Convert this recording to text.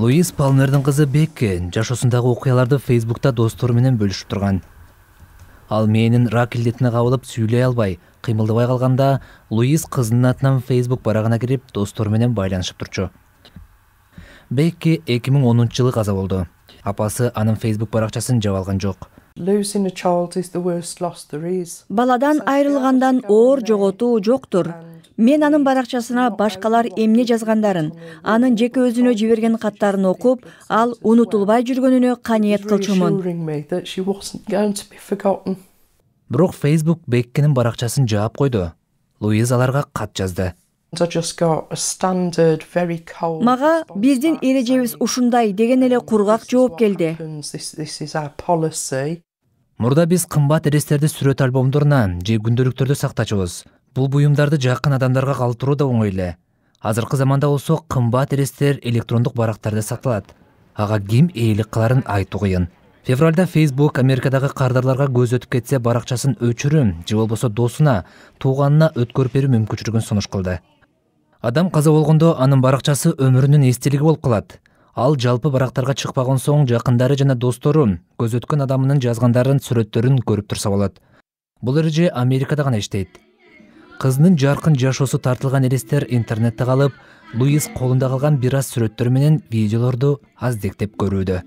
Луиз Палмердин кызы Бекки жашоосундагы окуяларды Фейсбукта достору менен бөлүшүп турган. Ал мээнин рак илдетине кабылып сүйлөй албай, кыймылдабай калганда, Луиз кызынын атынан Фейсбук барагына кирип, достору менен байланышып турчу. Бекки 2010-жылы каза болду. Апасы анын Фейсбук баракчасын жаап алган жок. Баладан айрылгандан оор жоготуу жоктур. Мен анын баракчасына башкалар эмне жазгандарын, анын жеке өзүнө жиберген каттарын окуп, ал унутулбай жүргөнүнө канеет кылчумун. Бирок Фейсбук Беккинин баракчасын жаап койду. Луиз аларга кат жазды. Мага биздин эрежебиз ушундай деген эле кургак жооп келди. Мурда биз кымбат элестерди сүрөт альбомдоруна же күндөлүктөрдө сактачубуз. Бул буюмдарды жакын адамдарга калтыруу да оңой эле. Азыркы заманда болсо кымбат элестер электрондук барактарда сакталат. Ага ким ээлик кыларын айтуу кыйын. Февралда Facebook Америкадагы кардарларга көз өтүп кетсе баракчасын өчүрүм же болбосо досуна, тууганына өткөрүп берүү мүмкүнчүлүгүн сунуш кылды. Адам каза болгондо анын баракчасы өмүрүнүн эстелиги болуп калат. Ал жалпы барактарга чыкпаган соң жакындары жана достору көз өткөн адамынын жазгандарын, сүрөттөрүн көрүп турса болот. Бул эреже Америкада гана иштейт. Кызынын жаркын жашоосу тартылган элестер интернетте калып, Луиз колунда калган бир аз сүрөттөр менен видеолорду аздектеп көрүүдө.